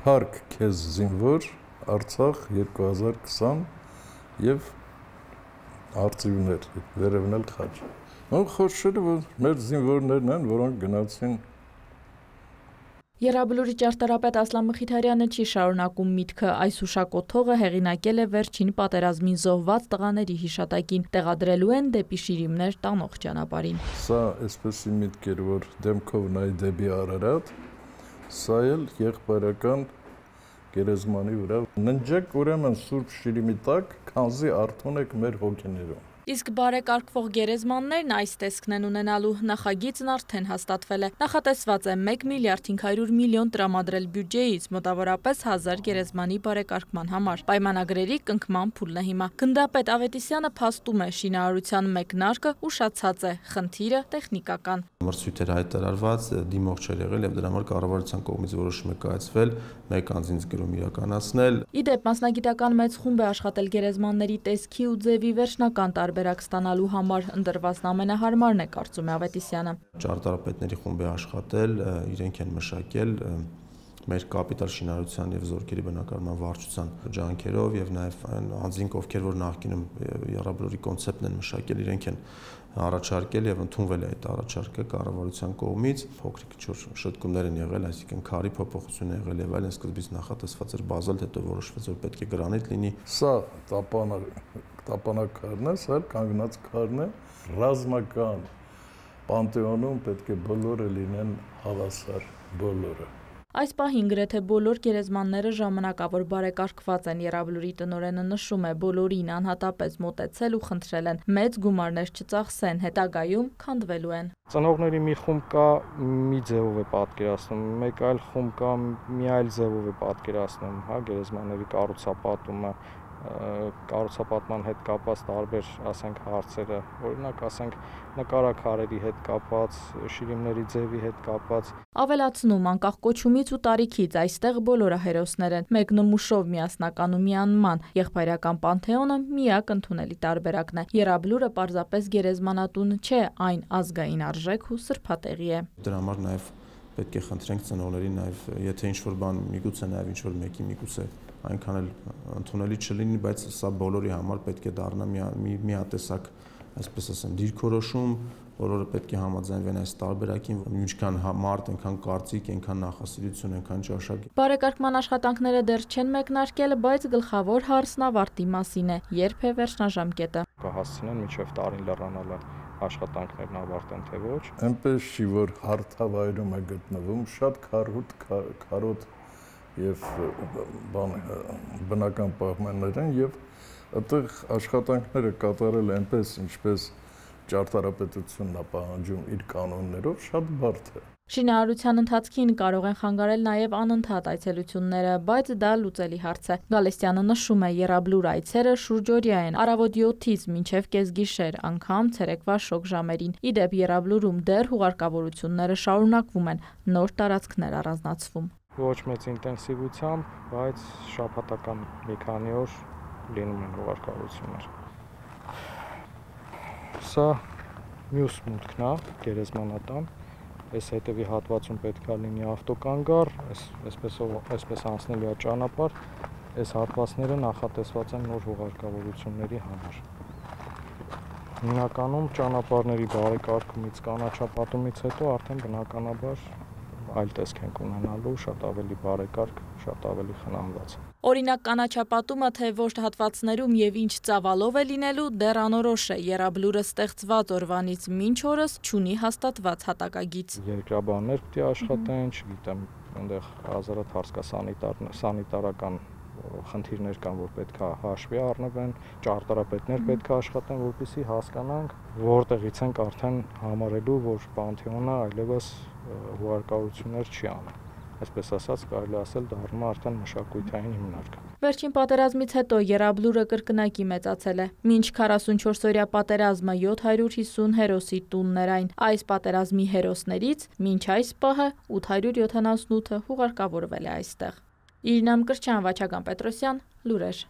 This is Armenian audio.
Փառք քեզ զինվոր, Արցախ 2020 եւ արծիվներ, վերևն էլ խաչ։ Խորշերը, որ մեր զինվորներն են, որոնք գնացին։ Եռաբլուրի ճարտարապետ Ասլան Մխիթարյանը չի շարունակում միտքը, այս հուշակոթողը հեղինակել է վերջին պատերազմին զոհված տղաների հիշատակին, տեղադրելու են դեպի շիրիմներ տանող ճանապարհին։ Սա այսպեսի միտք էր, որ դեմքով նայ դեպի Արարատ, սա էլ եղբայրական գերեզմանի վրա։ Ննջեք ուրեմն Սուրբ Շիրիմի տակ, քանզի արթուն եք մեր հոգիներում։ Իսկ բարեկարգվող գերեզմաններն այս տեսքն են ունենալու, նախագիծն արդեն հաստատվել է։ Նախատեսված է 1 միլիարդ 500 միլիոն տրամադրել բյուջեից, մոտավորապես 1000 գերեզմանի բարեկարգման համար։ Պայմանագրերի կնքման փուլն է հիմա։ Գնդապետ Ավետիսյանը փաստում է, շինարարության մեկնարկը ուշացած է, խնդիրը տեխնիկական։ Մրցույթ էր հայտարարված, դիմող չէր եղել եւ դրա համար կառավարության կողմից որոշում է կայացվել, մեկ անձինց գրում իրականացնել։ Իդեպ մասնագիտական մեծ խումբ է աշխատել գերեզմանների տեսքի ու ձևի վերջնական տարբերակ ստանալու համար, ընտրվածն ամենահարմարն է, կարծում է Ավետիսյանը։ Ճարտարապետների խումբ է աշխատել, իրենք են մշակել մեր կապիտալ շինարարության եւ զորքերի բնակարարման վարչության ջանքերով եւ նաեւ այն անձինք, ովքեր որ նախկինում Եռաբլուրի կոնցեպտն են մշակել, իրենք են առաջարկել եւ ընդունվել է այդ առաջարկը կառավարության կողմից։ Փոքրիկ շտկումներ են եղել, այսինքն քարի փոփոխություն է եղել եւ այլն, սկզբից նախատեսված էր բազալտ, հետո որոշվեց որ պետք է գրանիտ լինի։ Սա տապանակարն է, սա կանգնած քարն է, ռազմական պանթեոնում պետք է բոլորը լինեն հավասար, բոլորը։ Այս պահին գրեթե բոլոր գերեզմանները ժամանակավոր բարեկարգված են, Եռաբլուրի տնօրենը նշում է, բոլորին անհատապես մոտեցել ու խնդրել են մեծ գումարներ չծախսեն, հետագայում քանդվելու են։ Ծնողների մի խումբ կա, մի ձևով է պատկերացնում, մեկ այլ խումբ կա, մի այլ ձևով է պատկերացնում, հա, գերեզմանների կառուցապատումը, կառուցապատման հետ կապված տարբեր, ասենք, հարցերը, օրինակ, ասենք, նկարաքարերի հետ կապված, շիրիմների ձևի հետ կապված։ Ավելացնում, անկախ կոչումից ու տարիքից, այստեղ բոլորը հերոսներ են, մեկ նմուշով միասնական ու միանման, եղբայրական պանթեոնը միակ ընդունելի տարբերակն է։ Եռաբլուրը պարզապես գերեզմանատուն չէ, այն ազգային արժեք ու սրբատեղի է։ Դրա համար նաև պետք է խնդրենք ծնողներին, նաև եթե ինչ-որ բան միգուցե նաև ինչ-որ մեկի միգուցե այնքան էլ ընդունելի չլինի, բայց սա բոլորի համար պետք է դառնա միատեսակ, այսպես ասեմ, դիրքորոշում, բոլորը պետք է համաձայնվեն այս տարբերակին, ինչքան մարդ, այնքան կարծիք, այնքան նախասիրություն, այնքան ճաշակ։ Բարեկարգման աշխատանքները դեռ չեն մեկնարկել, բայց գլխավոր հարցն ավարտի մասին է, երբ է վերջնաժամկետը։ Կհասցնեն մինչև տարին լեռանալը աշխատանքներն ավարտեն, թե ոչ։ Այնպես չի, որ հարթավայրում է գտնվում, շատ քարոտ եւ բնական պայմաններ են եւ այդտեղ աշխատանքները կատարել այնպես, ինչպես ճարտարապետությունն է պահանջում իր կանոններով, շատ բարդ է։ Շինարարության ընթացքին կարող են խանգարել նաև անընդհատ այցելությունները, բայց դա լուծելի հարց է։ Գալստյանը նշում է, Եռաբլուր այցերը շուրջօրյա են, առավոտ 7-ից մինչև կեսգիշեր, անգամ ցերեկվա շոգ ժամերին։ Իդեպ Եռաբլուրում դեռ հուղարկավորությունները շարունակվում են, նոր տարածքներ առանձնացվում։ Ոչ մեծ ինտենսիվությամբ, բայց շաբաթական մի քանի օր լինում են հուղարկավորություններ։ Սա մյուս մուտքն է, գերեզմանատան։ Այս հետևի հատվածում պետք է լինի ավտոկանգար, այսպես անցնելու է ճանապարհ, այս հատվածները նախատեսված են նոր հուղարկավորությունների համար։ Հիմնականում ճանապարհների բարեկարգումից, կանաչապատումից հետո արդեն բնականաբար այլ տեսք ենք ունենալու, շատ ավելի բարեկարգ, շատ ավելի խնամված։ Օրինակ կանաչապատումը, թե ոչ հատվածներում եւ ինչ ծավալով է լինելու, դեռ անորոշ է։ Եռաբլուրը ստեղծված օրվանից մինչ օրս չունի հաստատված հատակագիծ։ Երկրաբաններ պետք է աշխատեն, չգիտեմ, այնտեղ հազարատ հարց կա սանիտարական խնդիրներ կան, որ պետք է հաշվի առնվեն, ճարտարապետներ պետք է աշխատեն, որպեսզի հասկանանք, որտեղից ենք արդեն համարելու, որ պանթեոնը այլևս հուղարկավորություններ չի անում։ Այսպես ասած, կարելի ասել դառնում է արդեն մշակութային հիմնարկ։ Վերջին պատերազմից հետո Եռաբլուրը կրկնակի մեծացել է։ Մինչ 44-օրյա պատերազմը 750 հերոսի տունն էր այն։ Այս պատերազմի հերոսներից մինչ այս պահը 878-ը հուղարկավորվել է այստեղ։ Իրինա Մկրտչյան, Վաչագան Պետրոսյան, լուրեր։